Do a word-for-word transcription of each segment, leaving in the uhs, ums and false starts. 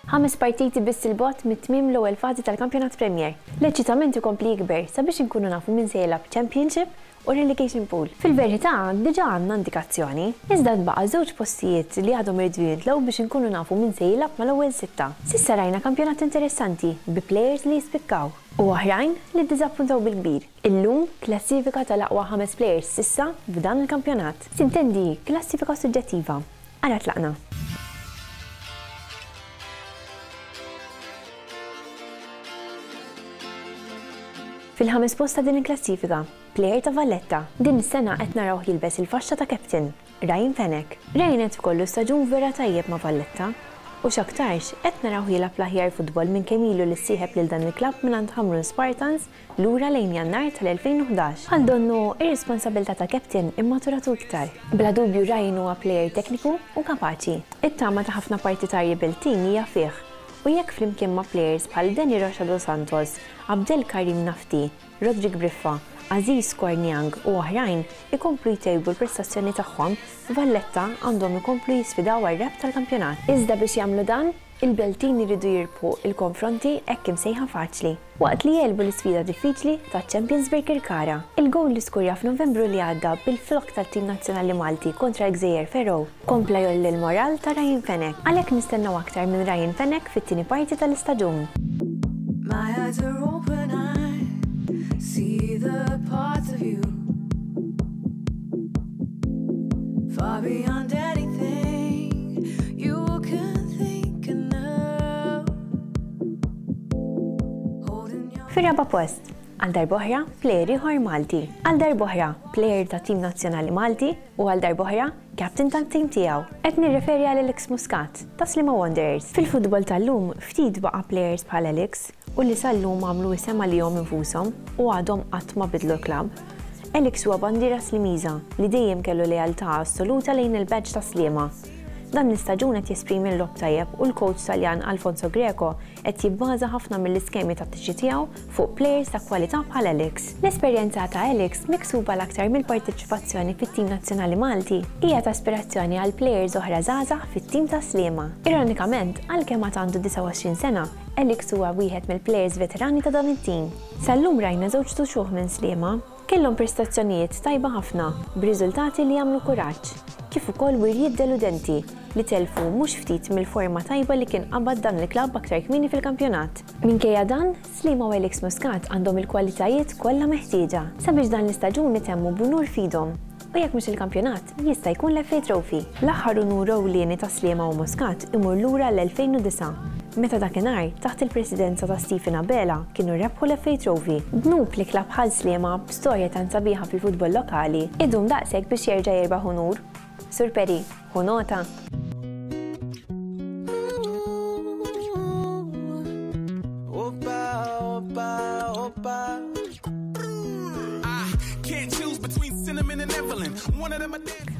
Ħames partiti biss 'il bogħod mit-tmiem l-ewwel fażi tal-Kampjonat Premier. L-eċitament ikompli jikber sabiex inkunu nafu min se jilgħab Championship u Relegation Pool. Fil-verità, diġà għandna indikazzjoni, iżda tbaqa' żewġ postijiet li għadhom iridu jintlew biex inkunu nafu min se jilgħab mal-ewwel sitta. S'issa rajna kampjonat interessanti bi players li jispikkaw u oħrajn li ddiżappuntaw bil-kbir. Illum klassifika tal-aqwa ħames players s'issa f'dan il-kampjonat. Sintendi klassifika suġġettiva. Ara tlaqna. Fil-ħames post ta' din il-klassifika, player ta' Valletta. Din is-sena qed narawh jilbes il-faxxa ta' captain, Ryan Fenech. Ryan qed ikollu staġun vera tajjeb ma' Valletta u x'aktarx qed narawh jilgħab l-aħjar futbol minn kemm ilu li ssieħeb lil dan il-klabb mingħand Ħamrun Spartans lura lejn Jannar tal-elfejn u ħdax. Bħal donnu ir-responsabilità ta' captain immaturatu iktar. Bla dubju Ryan huwa player tekniku u kapaċi. It-tama ta' ħafna partitarji Beltin hija fih u jekk flimkien ma' players bħal Danny Rocha dos Santos, Abdel Karim Nafti, Rodrik Briffa, Aziz Korniang u oħrajn ikomplu jtejbu l-prestazzjoni tagħhom, Valletta għandhom ikomplu jisfidaw għar-rebħ tal-kampjonat. Iżda biex jagħmlu dan, il-Beltin iridu jirbħu il-konfronti hekk imsejħa faċli, waqt li jegħlbu l-isfida diffiċli ta' Champions Birkirkara. Il-gowl li skurja f'Novembru li għadda bil-flok tat-tim nazzjonali Malti kontra Gżejjer Faroe kompla jolli l-moral ta' Ryan Fenech. Għalhekk nistennew aktar minn Ryan Fenech fit-tieni parti tal-istaġun. My eyes are open, I see the parts of you far beyond anything you can think and know. Holding your Fir-raba' post, għal darb'oħra player ieħor Malti, għal darb'oħra player ta' tim nazzjonali Malti u għal darb'oħra captain tat-tim tiegħu. Qed nirreferi għal Alex Muscat ta' Sliema Wanderers. Fil-futbol tal-lum ftit baqa' players bħal Alex u li sal-lum għamlu isem għalihom infushom u għadhom qatt ma bidlu l-klabb. Alex huwa bandiera Slimiża li dejjem kellu lealtà assoluta lejn il-badge ta' Sliema. Dan l-istaġun qed jesprimi l-logħob tajjeb u l-coach Taljan Alfonso Greco qed jibbaża ħafna mill-iskemi tattiċi tiegħu fuq players ta' kwalità bħal Alex. L-esperjenza ta' Alex miksuba l-aktar mill-parteċipazzjoni fit-tim nazzjonali Malti hija ta' aspirazzjoni għal players oħra żgħażagħ fit-tim ta' Sliema. Ironikament, għalkemm għad għandu disgħa u għoxrin sena, Alex huwa wieħed mill-players veterani ta' dan it-tim. Sal-lum rajna żewġ tuxuħ minn Sliema, kellhom prestazzjonijiet tajba ħafna b'riżultati li jagħmlu kuraġġ, kif ukoll wirjiet deludenti li telfu mhux ftit mill-forma tajba li kien qabad dan il-klabb aktar kmieni fil-kampjonat. Minkejja dan, Sliema u Alex Muscat għandhom il-kwalitajiet kollha meħtieġa sabiex dan l-istaġun itemmu b'unur f'idhom. U jekk mhux il-kampjonat, jista' jkun l-F A Trophy. L-aħħar unur ewlieni ta' Sliema u Muscat imur lura l-elfejn u disgħa, meta dakinhar taħt il-presidenza ta' Stephen Abela kienu rebħu l-F A Trophy. Dnub li klabb bħal Sliema b'storja tant sabiħa fil-futbol lokali idum daqshekk biex jerġa' jirbaħ unur. Sur Peri, hu nota.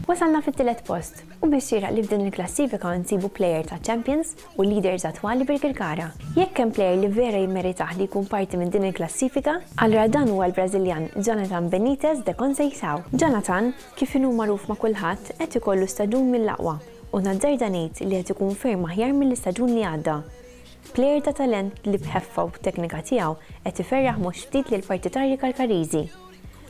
Wasalna fit-tielet post u biex xieraq li f'din il-klassifika nsibu player ta' Champions u leaders attwali Birkirkara. Jekk hemm player li vera jimmeritah li jkun parti minn din il-klassifika, allura dan huwa l-Brażiljan Jonathan Benitez de Conceição. Jonathan, kif inhu magħruf ma' kulħadd, qed ikollu staġun mill-aqwa u nazzarda ngħid li qed ikun ferm aħjar mill-istaġun li għadda. Player ta' talent li b'ħeffa u b'teknika tiegħu qed iferraħ mhux ftit lil partitarji Karkariżi.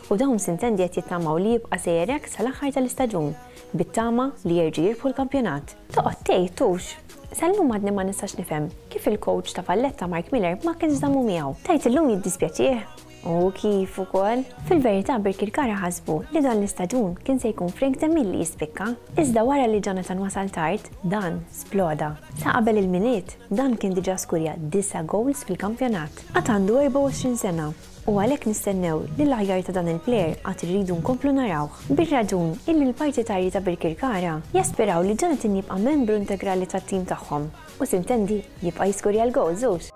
U dawn sintendi qed jittamaw li jibqa' sejjer hekk sal-aħħar tal-istaġun, bit-tama li jerġgħu jirbħu l-kampjonat. Toqgħod tgħid tux, sal-lum għadni ma nistax nifhem kif il-coach ta' Valletta Mark Miller ma kienx żammu miegħu. Tgħid illum jiddispjaċih? U kif ukoll? Fil-verità Birkirkara ħasbu li dan l-istaġun kien se jkun Frank Demil li jispikka, iżda wara li Jonathan wasal tard, dan sploda. Sa qabel il-Milied, dan kien diġà skurja disa' goals fil-kampjonat. Għad għandu erbgħa u għoxrin sena u għalhekk nistennew li l-aħjar ta' dan il-player għad irridu nkomplu narawh. Bir-raġun illi l-partitarji ta' Birkirkara jaspiraw li Jonathan jibqa' membru integrali tat-tim tagħhom u sintendi jibqa' jiskurja l-goals hux.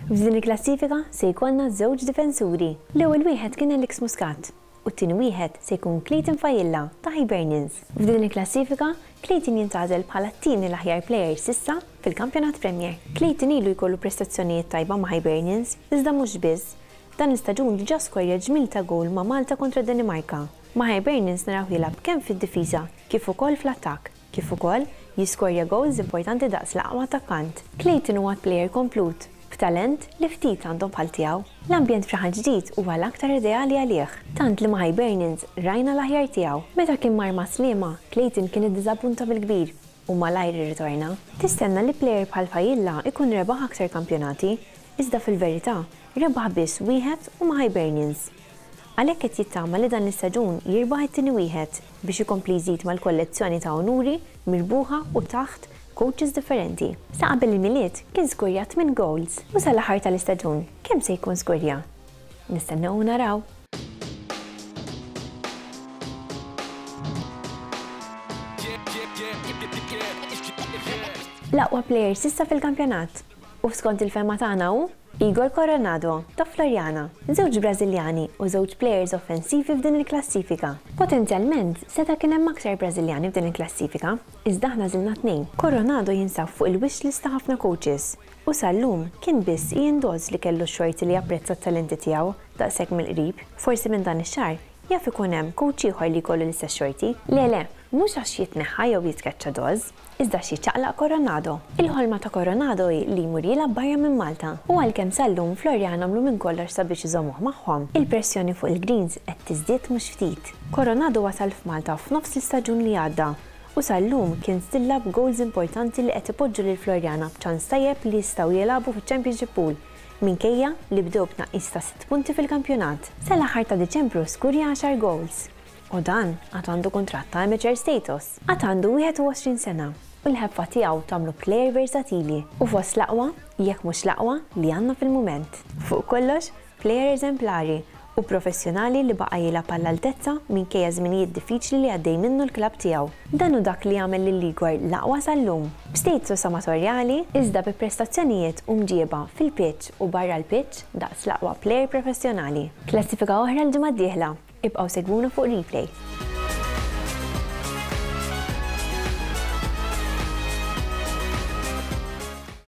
F'din il-klassifika se jkollna żewġ difensuri. L-ewwel wieħed kien Alex Muscat u t-tieni wieħed se jkun Clayton Failla ta' Hibernians. F'din il-klassifika, Clayton jintgħażel bħala t-tieni l-aħjar player s'issa fil-Kampjonat Premier. Clayton ilu jkollu prestazzjonijiet tajba ma' Hibernians, iżda mhux biss. Dan l-istaġun diġà skorja ġmiel ta' goal ma' Malta kontra Danimarka. Ma' Hibernians naraw jilgħab kemm fid-difiża kif ukoll fl-attakk, kif ukoll jiskorja goals importanti daqs l-aqwa attakkant. Clayton huwa player komplut, b'talent li ftit għandhom bħal tiegħu. L-ambjent f'Raħal Ġdid huwa l-aktar ideali għalih, tant li ma' Hibernians rajna l-aħjar tiegħu. Meta kien mar ma' Sliema, Clayton kien iddiżappunta bil-kbir u malajr irritorna. Tistenna li player bħal Failla ikun rebaħ aktar kampjonati, iżda fil-verità rebaħ biss wieħed u ma' Hibernians. Għalhekk qed jittama li dan l-istaġun jirbaħ it-tieni wieħed biex ikompli jżid mal-kollezzjoni ta' onuri mirbuħa u taħt coaches differenti. Sa qabel il-Milied kien skurja tmien goals u sal-aħħar tal-istaġun kemm se jkun skurja? Nistennew naraw. L-aqwa player s'issa fil-kampjonat u skont il-fehma tagħna hu Igor Coronado ta' Floriana, żewġ Brażiljani u żewġ players offensivi f'din il-klassifika. Potenzjalment seta' kien hemm aktar Brażiljani f'din il-klassifika, iżda aħna żilna tnejn. Coronado jinsab fuq il-wish list ta' ħafna coaches u sal-lum kien biss Ian Dodds li kellu x-xorti li japprezza t-talenti tiegħu daqshekk mill-qrib. Forsi minn dan ix-xahar jaf ikun hemm coach ieħor li jkollu l-istess xorti. Le le, mhux għax jitneħħa jew jitkeċċa Dodds, iżda xi ċaqlaq Coronado. Il-ħolma ta' Coronado hi li jmur jilgħab barra minn Malta u għalkemm sal-lum Floriana għamlu minn kollox sabiex iżommuh magħhom. Il-pressjoni fuq il-Greens qed tiżdied mhux ftit. Coronado wasal f'Malta f'nofs l-istaġun li għadda u sal-lum kien stilla b'goals importanti li qed ipoġġu lil Floriana b'ċans tajjeb li jistgħu jilagħbu fiċ-Championship Pool minkejja li bdew b'tnaqqis ta' sitt punti fil-kampjonat. Sal-aħħar ta' Diċembru skurja għaxar goals. U dan għad għandu kuntratt ta' amateur status. Għad għandu wieħed u għoxrin sena u l-ħeffa tiegħu tagħmlu player versatili u fost l-aqwa, jekk mhux l-aqwa, li għandna fil-mument. Fuq kollox, player eżemplari u professjonali li baqa' jilgħab għall-altezza minkejja żminijiet diffiċli li għaddej minnu l-klabb tiegħu. Dan hu dak li jagħmel lil Igor l-aqwa sal-lum. B'status amatorjali, iżda bi prestazzjonijiet u mġieba fil-pitch u barra l-pitch daqs l-aqwa player professjonali. Klassifika oħra l-ġimgħa d-dieħla. Ibqgħu segwuna fuq Replay.